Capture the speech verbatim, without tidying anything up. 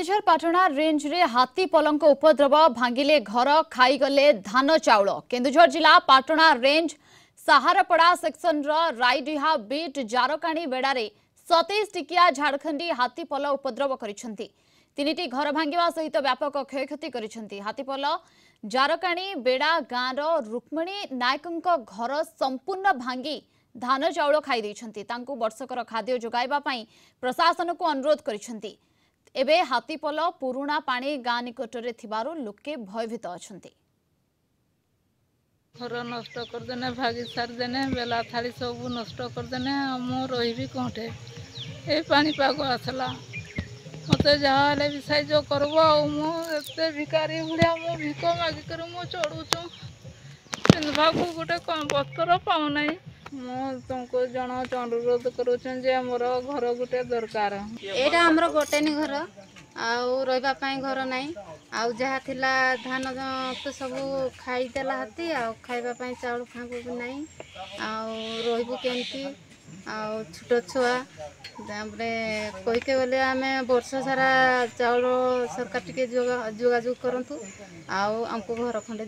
କେନ୍ଦୁଝର ପାଟଣା ରେଞ୍ଜରେ ହାତୀ ପଲଙ୍କ ଉପଦ୍ରବ, ଭାଙ୍ଗିଲେ ଘର, ଖାଇଗଲେ ଧାନ ଚାଉଳ। କେନ୍ଦୁଝର ଜିଲ୍ଲା ପାଟଣା ରେଞ୍ଜ ସାହାରପଡ଼ା ସେକ୍ସନର ରାଇଡିହା ବିଟ୍ ଜାରକାଣୀ ବେଡ଼ାରେ ସତେଇଶ ଟିକିଆ ଝାଡ଼ଖଣ୍ଡୀ ହାତୀପଲ ଉପଦ୍ରବ କରିଛନ୍ତି। ତିନିଟି ଘର ଭାଙ୍ଗିବା ସହିତ ବ୍ୟାପକ କ୍ଷୟକ୍ଷତି କରିଛନ୍ତି। ହାତୀପଲ ଜାରକାଣୀ ବେଡ଼ା ଗାଁର ରୁକ୍ମିଣୀ ନାୟକଙ୍କ ଘର ସମ୍ପୂର୍ଣ୍ଣ ଭାଙ୍ଗି ଧାନ ଚାଉଳ ଖାଇ ଦେଇଛନ୍ତି। ତାଙ୍କୁ ବର୍ଷକର ଖାଦ୍ୟ ଯୋଗାଇବା ପାଇଁ ପ୍ରଶାସନକୁ ଅନୁରୋଧ କରିଛନ୍ତି। ଏବେ ହାତୀପଲ ପୁରୁଣା ପାଣି ଗାଁ ନିକଟରେ ଥିବାରୁ ଲୋକେ ଭୟଭୀତ ଅଛନ୍ତି। ଘର ନଷ୍ଟ କରିଦେନେ, ଭାଗି ସାରିଦେନେ, ବେଲା ଥାଳି ସବୁ ନଷ୍ଟ କରିଦେନେ। ଆଉ ମୁଁ ରହିବି କୋଉଠେ? ଏଇ ପାଣିପାଗ ଆସିଲା, ମୋତେ ଯାହା ହେଲେ ବି ସାହାଯ୍ୟ କରିବ। ଆଉ ମୁଁ ଏତେ ଭିକାରୀ ଭଳିଆ, ମୁଁ ଭିକ ମାଗିକରି ମୁଁ ଚଳୁଛୁ। ପିନ୍ଧିବାକୁ ଗୋଟେ ବସ୍ତ୍ର ପାଉନାହିଁ। ମୁଁ ତୁମକୁ ଜଣାଉଛି, ଅନୁରୋଧ କରୁଛି ଯେ ମୋର ଘର ଗୋଟେ ଦରକାର। ଏଇଟା ଆମର ଗୋଟେନି ଘର, ଆଉ ରହିବା ପାଇଁ ଘର ନାହିଁ। ଆଉ ଯାହା ଥିଲା ଧାନ ତ ସବୁ ଖାଇଦେଲା ହାତୀ। ଆଉ ଖାଇବା ପାଇଁ ଚାଉଳ ଫାଉଳ ବି ନାହିଁ, ଆଉ ରହିବୁ କେମିତି? ଆଉ ଛୋଟ ଛୁଆ। ତାପରେ କହିକେ ଗଲେ ଆମେ ବର୍ଷ ସାରା ଚାଉଳ ସରକାର ଟିକେ ଯୋଗାଯୋଗ କରନ୍ତୁ, ଆଉ ଆମକୁ ଘର ଖଣ୍ଡେ।